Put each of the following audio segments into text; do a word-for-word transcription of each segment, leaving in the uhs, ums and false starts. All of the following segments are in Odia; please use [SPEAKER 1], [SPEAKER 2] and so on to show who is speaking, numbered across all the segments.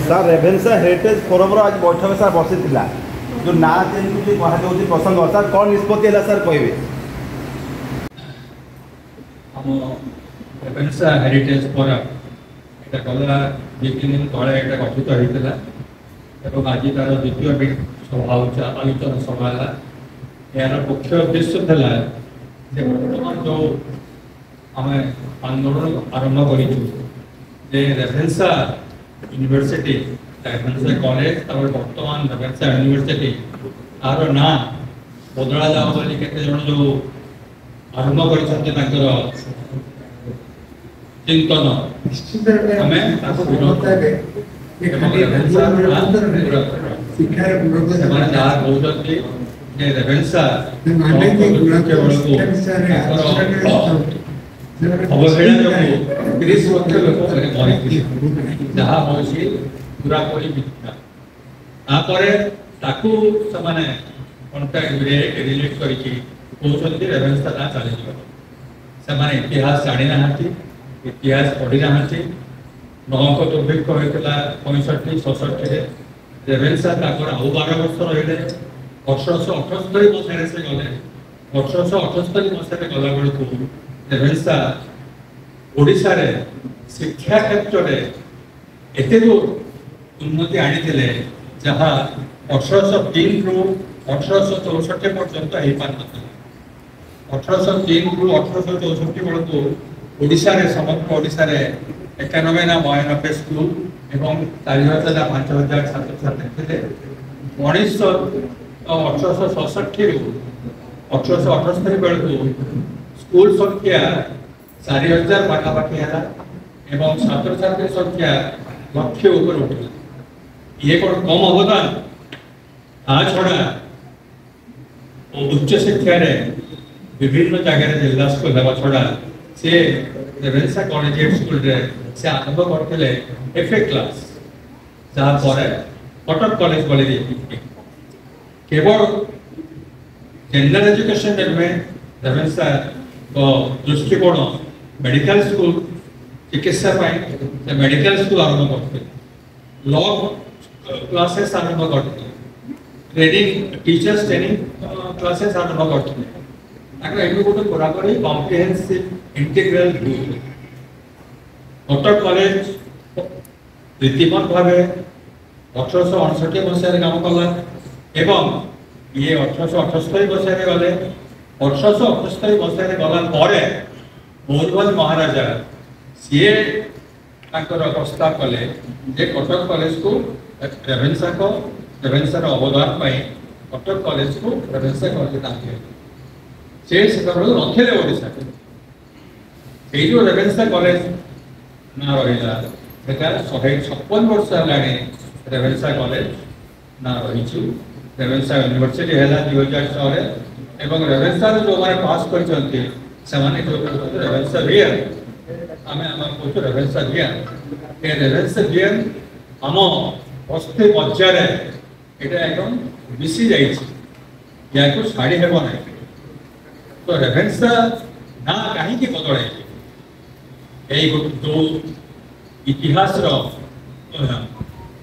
[SPEAKER 1] ସାର୍ ରେଭେନ୍ସା ହେରିଟେଜ୍ ଫୋରମ୍ର ଆଜି ବୈଠକ ସାର୍ ବସିଥିଲା ଯେଉଁ ନାଁ ଚେଞ୍ଜ କୁହାଯାଉଛି ପ୍ରସଙ୍ଗ ସାର୍ କ'ଣ ନିଷ୍ପତ୍ତି ହେଲା ସାର୍ କହିବେ
[SPEAKER 2] ଆମ ରେଭେନ୍ସା ହେରିଟେଜ୍ ଫୋରମ୍ ଏଇଟା ଗଲା ଦୁଇ ତିନି ଦିନ ତଳେ ଏଇଟା ଗଠିତ ହେଇଥିଲା ଏବଂ ଆଜି ତାର ଦ୍ୱିତୀୟ ବି- ସଭା ହେଉଛି ଆଲୋଚନା ସଭା ହେଲା ଏହାର ମୁଖ୍ୟ ଉଦ୍ଦେଶ୍ୟ ଥିଲା ଯେ ବର୍ତ୍ତମାନ ଯେଉଁ ଆମେ ଆନ୍ଦୋଳନ ଆରମ୍ଭ କରିଛୁ ଯେ ରେଭେନ୍ସା ୟୁନିଭର୍ସିଟି ରେଭେନ୍ସା କଲେଜ ତାପରେ ବର୍ତ୍ତମାନ ରେଭେନ୍ସା ୟୁନିଭର୍ସିଟି ତାର ନାଁ ବଦଳା ଯାଉ ବୋଲି କେତେ ଜଣ ଯେଉଁ ଆରମ୍ଭ କରିଛନ୍ତି ତାଙ୍କର ଚିନ୍ତନ
[SPEAKER 3] ନିଶ୍ଚିତ ରୂପେ
[SPEAKER 2] ଆମେ ତାକୁ ବିରୋଧ
[SPEAKER 3] ସହମତ ହେବେ ଯେ
[SPEAKER 2] ଏବଂ
[SPEAKER 3] ଖାଲି
[SPEAKER 2] ରେଭେନ୍ସା
[SPEAKER 3] ଗୁଣବତ୍ତା ନୁହେଁ,
[SPEAKER 2] ବିରୋଧ କରୁ।
[SPEAKER 3] ଶିକ୍ଷାର ଗୁଣବତ୍ତା
[SPEAKER 2] ସେମାନେ ଯାହା କହୁଛନ୍ତି ଯେ ରେଭେନ୍ସା
[SPEAKER 3] ମାନେ ଯେ ଗୁଣାତ୍ମକ
[SPEAKER 2] ବେଳକୁ
[SPEAKER 3] ଶିକ୍ଷା ବିଷୟରେ
[SPEAKER 2] ତାଙ୍କର
[SPEAKER 3] ଆଲୋଚନା କରିବାକୁ ସେମାନେ
[SPEAKER 2] ଅବହେଳା ଯୋଗୁଁ ତିରିଶ ଲକ୍ଷ ଲୋକ ମରିଥିଲେ ଯାହା ହେଉଛି ପୁରାପୁରି ମିଥ୍ୟା ତାପରେ ତାକୁ ସେମାନେ କଣ୍ଟାକ୍ଟ ରିଲେଟ୍ କରିକି କହୁଛନ୍ତି ରେଭେନ୍ସା ନାଁ ଚାଲିଯିବ ସେମାନେ ଇତିହାସ ଜାଣିନାହାନ୍ତି ଇତିହାସ ପଢ଼ିନାହାନ୍ତି ନଅଙ୍କ ଦୁର୍ଭିକ୍ଷ ହୋଇଥିଲା ପଇଁଷଠି ଛଅଷଠିରେ ରେଭେନ୍ସା ତାଙ୍କର ଆଉ ବାର ବର୍ଷ ରହିଲେ ଅଠରଶହ ଅଠସ୍ତରୀ ମସିହାରେ ସେ ଗଲେ ଅଠରଶହ ଅଠସ୍ତରୀ ମସିହାରେ ଗଲା ବେଳକୁ ରେଭେନ୍ସା ଓଡ଼ିଶାରେ ଶିକ୍ଷା କ୍ଷେତ୍ରରେ ଏତେ ଦୂର ଉନ୍ନତି ଆଣିଥିଲେ ଯାହା ଅଠରଶହ ତିନିରୁ ଅଠରଶହ ଚଉଷଠି ପର୍ଯ୍ୟନ୍ତ ହେଇପାରିନଥିଲା ଅଠରଶହ ତିନିରୁ ଅଠରଶହ ଚଉଷଠି ବେଳକୁ ଓଡ଼ିଶାରେ ସମଗ୍ର ଓଡ଼ିଶାରେ ଏକାନବେ ନା ବୟାନବେ ସ୍କୁଲ ଏବଂ ଚାରି ହଜାର ନା ପାଞ୍ଚ ହଜାର ଛାତ୍ରଛାତ୍ରୀ ଥିଲେ ଉଣେଇଶହ ଅଠରଶହ ଛଅଷଠିରୁ ଅଠରଶହ ଅଠସ୍ତରୀ ବେଳକୁ ସ୍କୁଲ ସଂଖ୍ୟା ଚାରି ହଜାର ପାଖାପାଖି ହେଲା ଏବଂ ଛାତ୍ରଛାତ୍ରୀ ସଂଖ୍ୟା ଲକ୍ଷେ ଉପରେ ଉଠିଲା ଇଏ କ'ଣ କମ୍ ଅବଦାନ ତା ଛଡ଼ା ଉଚ୍ଚ ଶିକ୍ଷାରେ ବିଭିନ୍ନ ଜାଗାରେ ଜିଲ୍ଲା ସ୍କୁଲ ହେବା ଛଡ଼ା ସେ ରେଭେନ୍ସା କଲେଜିଏଟ୍ ସ୍କୁଲରେ ସେ ଆରମ୍ଭ କରିଥିଲେ ଏଫ୍ ଏ କ୍ଲାସ୍ ଯାହା ପରେ କଟକ କଲେଜ ବୋଲି ଦେଇଥିଲେ କେବଳ ଜେନେରାଲ ଏଜୁକେସନରେ ନୁହେଁ ରେଭେନ୍ସାଙ୍କ ଦୃଷ୍ଟିକୋଣ ମେଡିକାଲ ସ୍କୁଲ ଚିକିତ୍ସା ପାଇଁ ସେ ମେଡିକାଲ ସ୍କୁଲ ଆରମ୍ଭ କରିଥିଲେ ଲ କ୍ଲାସେସ୍ ଆରମ୍ଭ କରିଥିଲେ ଟ୍ରେନିଂ ଟିଚର୍ସ ଟ୍ରେନିଂ କ୍ଲାସେସ୍ ଆରମ୍ଭ କରିଥିଲେ ତାଙ୍କର ଏଠି ଗୋଟେ ପୁରାପୁରି comprehensive integral view Cuttack college ରୀତିମତ ଭାବେ ଅଠରଶହ ଅଣଷଠି ମସିହାରେ କାମ କଲା ଏବଂ ଇଏ ଅଠରଶହ ଅଠସ୍ତରୀ ମସିହାରେ ଗଲେ ଅଠରଶହ ଅଠସ୍ତରୀ ମସିହାରେ ଗଲା ପରେ ମୟୂରଭଞ୍ଜ ମହାରାଜା ସିଏ ତାଙ୍କର ପ୍ରସ୍ତାବ କଲେ ଯେ କଟକ କଲେଜକୁ ରେଭେନ୍ସାଙ୍କ ରେଭେନ୍ସାର ଅବଦାନ ପାଇଁ କଟକ କଲେଜକୁ ରେଭେନ୍ସା କଲେଜ ନାଁ ଦିଆଗଲା ସେ ସେତେବେଳକୁ ନଥିଲେ ଓଡ଼ିଶାରେ ସେଇ ଯୋଉ ରେଭେନ୍ସା କଲେଜ ନାଁ ରହିଲା ସେଟା ଶହେ ଛପନ ବର୍ଷ ହେଲାଣି ରେଭେନ୍ସା କଲେଜ ନାଁ ରହିଛି ରେଭେନ୍ସା ୟୁନିଭର୍ସିଟି ହେଲା ଦୁଇ ହଜାର ଛଅରେ ଏବଂ ରେଭେନ୍ସାରୁ ଯେଉଁମାନେ ପାସ୍ କରିଛନ୍ତି ସେମାନେ ଯୋଉ କହୁଛନ୍ତି ରେଭେନ୍ସା ଭିଏନ୍ ଆମେ ଆମେ କହୁଛୁ ରେଭେନ୍ସା ଭିଏନ୍ ଏ ରେଭେନ୍ସା ଭିଏନ୍ ଆମ ଅସ୍ଥି ମଜ୍ଜାରେ ଏଇଟା ଏକଦମ ମିଶି ଯାଇଛି ୟାକୁ ଛାଡ଼ି ହେବ ନାହିଁ ତ ରେଭେନ୍ସା ନାଁ କାହିଁକି ବଦଳାଇଛି ଏଇ ଗୋଟେ ଯୋଉ ଇତିହାସର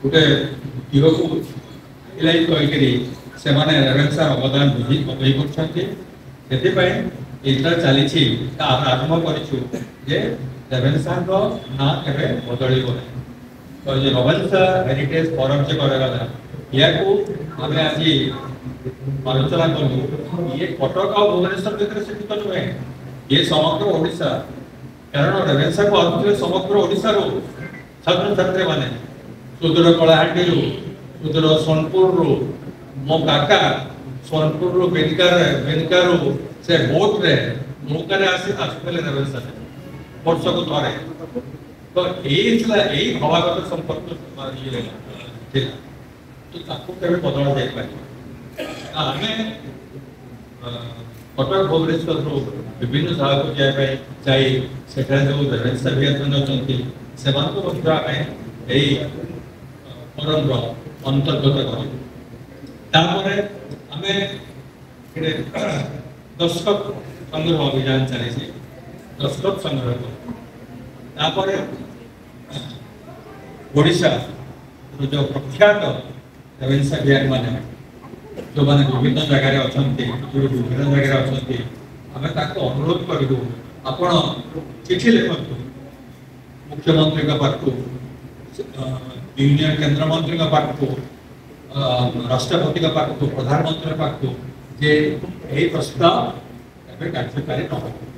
[SPEAKER 2] ଗୋଟେ ଦିଗକୁ ହାଇଲାଇଟ୍ କରିକିରି ସେମାନେ ରେଭେନ୍ସାର ଅବଦାନ ବୁଝି ବଦଳି କରୁଛନ୍ତି ସେଥିପାଇଁ ଏଇଟା ଚାଲିଛି ତା ଆମେ ଆରମ୍ଭ କରିଛୁ ଯେ ରେଭେନ୍ସାଙ୍କ ନାଁ କେବେ ବଦଳିବ ନାହିଁ ତ ଏ ରେଭେନ୍ସା ହେରିଟେଜ୍ ଫୋରମ୍ ଯେ କରାଗଲା ୟାକୁ ଆମେ ଆଜି ଆଲୋଚନା କଲୁ ଇଏ କଟକ ଆଉ ଭୁବନେଶ୍ୱର ଭିତରେ ସୀମିତ ନୁହେଁ ଇଏ ସମଗ୍ର ଓଡ଼ିଶା କାରଣ ରେଭେନ୍ସାକୁ ଆସୁଥିଲେ ସମଗ୍ର ଓଡ଼ିଶାରୁ ଛାତ୍ରଛାତ୍ରୀମାନେ ସୁଦୂର କଳାହାଣ୍ଡିରୁ ସୁଦୂର ସୋନପୁରରୁ ମୋ କାକା ସୋନପୁରରୁ ବିନକାରେ ବିନକାରୁ ସେ ବୋଟରେ ନୌକାରେ ଆସି ଆସୁଥିଲେ ରେଭେନ୍ସାରେ ବର୍ଷକୁ ଥରେ ତ ଏଇ ଥିଲା ଏଇ ଭାବାଗତ ସମ୍ପର୍କ ଇଏ ଥିଲା ତ ତାକୁ କେବେ ବଦଳା ଯାଇପାରିବ ଆମେ ଅ, କଟକ ଭୁବନେଶ୍ୱରରୁ ବିଭିନ୍ନ ଜାଗାକୁ ଯିବା ପାଇଁ ଯାଇ ସେଠାରେ ଯେଉଁ ରେଭେନ୍ସା ଭିଆନ ଅଛନ୍ତି ସେମାନଙ୍କୁ ମଧ୍ୟ ଆମେ ଏଇ ଫୋରମର ଅନ୍ତର୍ଗତ କରିବୁ ତାପରେ ଆମେ ଏଠି ଦସ୍ତଖତ ସଂଗ୍ରହ ଅଭିଯାନ ଚାଲିଛି ଦସ୍ତଖତ ସଂଗ୍ରହ କରୁ ତାପରେ ଓଡ଼ିଶାର ଯେଉଁ ପ୍ରଖ୍ୟାତ ରେଭେନ୍ସା ମାନେ ଯେଉଁମାନେ ବିଭିନ୍ନ ଜାଗାରେ ଅଛନ୍ତି, ଯେଉଁ ବିଭିନ୍ନ ଜାଗାରେ ଅଛନ୍ତି, ଆମେ ତାଙ୍କୁ ଅନୁରୋଧ କରିବୁ, ଆପଣ ଚିଠି ଲେଖନ୍ତୁ ମୁଖ୍ୟମନ୍ତ୍ରୀଙ୍କ ପାଖକୁ, ୟୁନିୟନ କେନ୍ଦ୍ରମନ୍ତ୍ରୀଙ୍କ ପାଖକୁ, ରାଷ୍ଟ୍ରପତିଙ୍କ ପାଖକୁ, ପ୍ରଧାନମନ୍ତ୍ରୀଙ୍କ ପାଖକୁ ଯେ ଏହି ପ୍ରସ୍ତାବ ଏବେ କାର୍ଯ୍ୟକାରୀ ନ ହେବ।